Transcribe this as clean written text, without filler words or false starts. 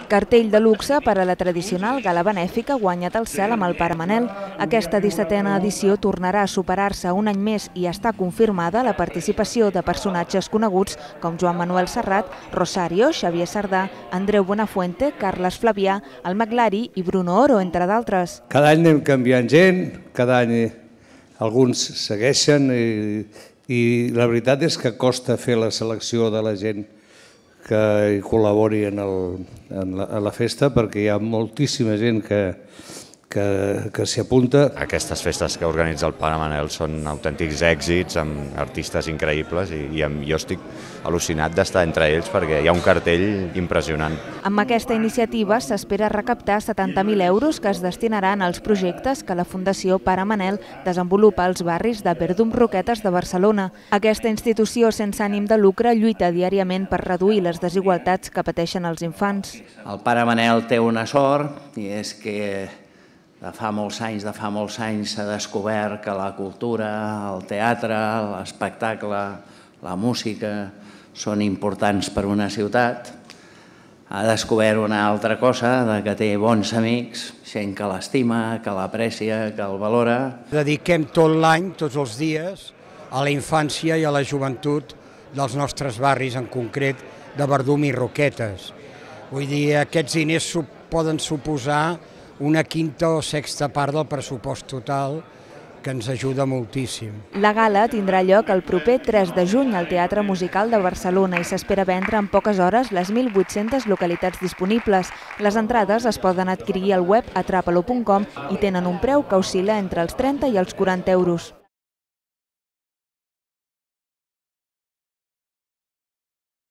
Cartell de luxe per a la tradicional gala benèfica Guanya't el cel amb el Pare Manel. Aquesta 17a edició tornarà a superar-se un any més i està confirmada la participació de personatges coneguts com Joan Manuel Serrat, Rosario, Xavier Sardà, Andreu Buenafuente, Carles Flavià, el Maglari i Bruno Oro, entre d'altres. Cada any anem canviant gent, cada any alguns segueixen i la veritat és que costa fer la selecció de la gent que hi col·labori en la festa, perquè hi ha moltíssima gent que s'hi apunta. Aquestes festes que organitza el Pare Manel són autèntics èxits, amb artistes increïbles, i jo estic al·lucinat d'estar entre ells perquè hi ha un cartell impressionant. Amb aquesta iniciativa s'espera recaptar 70.000 euros que es destinaran als projectes que la Fundació Pare Manel desenvolupa als barris de Verdum Roquetes de Barcelona. Aquesta institució sense ànim de lucre lluita diàriament per reduir les desigualtats que pateixen els infants. El Pare Manel té una sort, i és que de fa molts anys s'ha descobert que la cultura, el teatre, l'espectacle, la música són importants per a una ciutat. Ha descobert una altra cosa, que té bons amics, gent que l'estima, que l'aprecia, que el valora. Dediquem tot l'any, tots els dies, a la infància i a la joventut dels nostres barris, en concret de Verdum i Roquetes. Vull dir, aquests diners poden suposar una quinta o sexta part del pressupost total, que ens ajuda moltíssim. La gala tindrà lloc el proper 3 de juny al Teatre Musical de Barcelona i s'espera vendre en poques hores les 1.800 localitats disponibles. Les entrades es poden adquirir al web atrapalo.com i tenen un preu que oscil·la entre els 30 i els 40 euros.